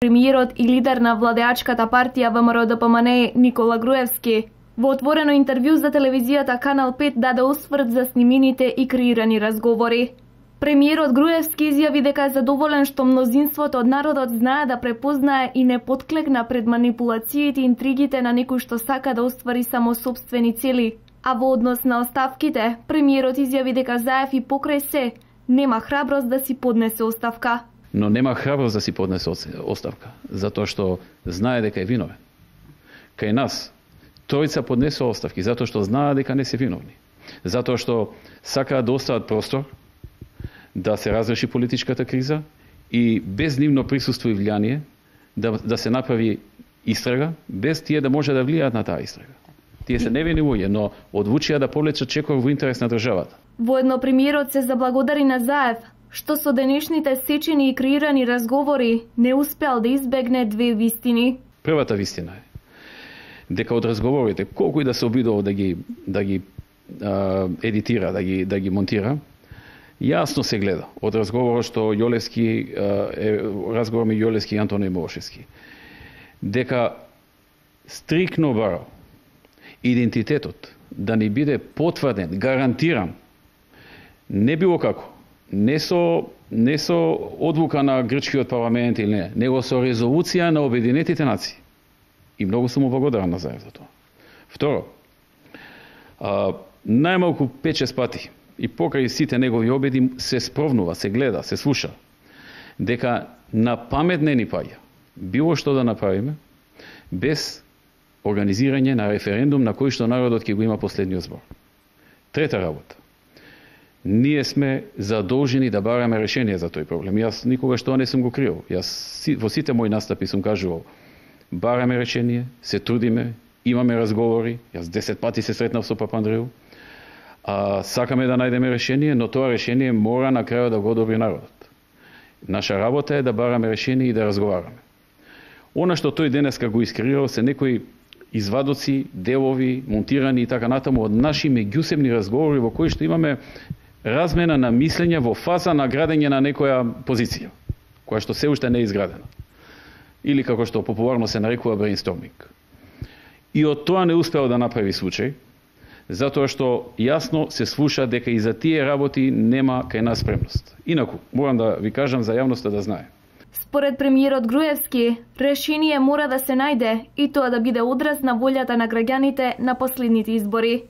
Премиерот и лидер на владеачката партија ВМРО-ДПМНЕ Никола Груевски во отворено интервју за телевизијата Канал 5 даде осврт за снимените и креирани разговори. Премиерот Груевски изјави дека е задоволен што мнозинството од народот знае да препознае и не потклекна пред манипулациите и интригите на некој што сака да оствари само сопствени цели. А во однос на оставките, премиерот изјави дека Заев и покрај се нема храброст да си поднесе оставка. Но нема храброст да си поднесе оставка, затоа што знае дека е виновен. Кај нас, тројца поднесоа оставки, затоа што знаат дека не се виновни. Затоа што сакаат да остават простор, да се разреши политичката криза и без нивно присуство и влијание да се направи истрага, без тие да може да влијаат на таа истрага. Тие се невини луѓе, но одлучија да повлечат чекор во интерес на државата. Воедно премиерот се заблагодари на Заев, што со денешните сечени и креирани разговори не успеал да избегне две вистини. Првата вистина е дека од разговорите, колку и да се обидувал да ги едитира, да ги монтира, јасно се гледа од разговорот што Јолевски разговор меѓу Јолевски и Антони Милошевски, дека стрикно барал идентитетот да ни биде потврден, гарантиран, не било како, не со одлука на грчкиот парламент или не, него со резолуција на Обединетите нации. И многу сум му благодарен на Заев за тоа. Второ, најмалку 5-6 пати и покрај сите негови обеди се спровнува, се гледа, се слуша, дека на памет не ни паѓа било што да направиме без организирање на референдум на кој што народот ќе го има последниот збор. Трета работа. Ние сме задолжени да бараме решение за тој проблем. Јас никогаш тоа не сум го криел. Јас во сите мои настапи сум кажувал, бараме решение, се трудиме, имаме разговори, јас 10 пати се сретнав со Папа Андреју, сакаме да најдеме решение, но тоа решение мора на крајот да го одобри народот. Наша работа е да бараме решение и да разговараме. Она што тој денеска го искреирал се некои извадоци, делови, монтирани и така натаму од наши меѓусебни разговори во кои што имаме размена на мислење во фаза на градење на некоја позиција, која што се уште не е изградена. Или како што популарно се нарекува брейнсторминг. И од тоа не успеал да направи случај, затоа што јасно се слуша дека и за тие работи нема кај нас спремност. Инаку, морам да ви кажам за јавноста да знае. Според премиерот Груевски, решение мора да се најде и тоа да биде одраз на волјата на граѓаните на последните избори.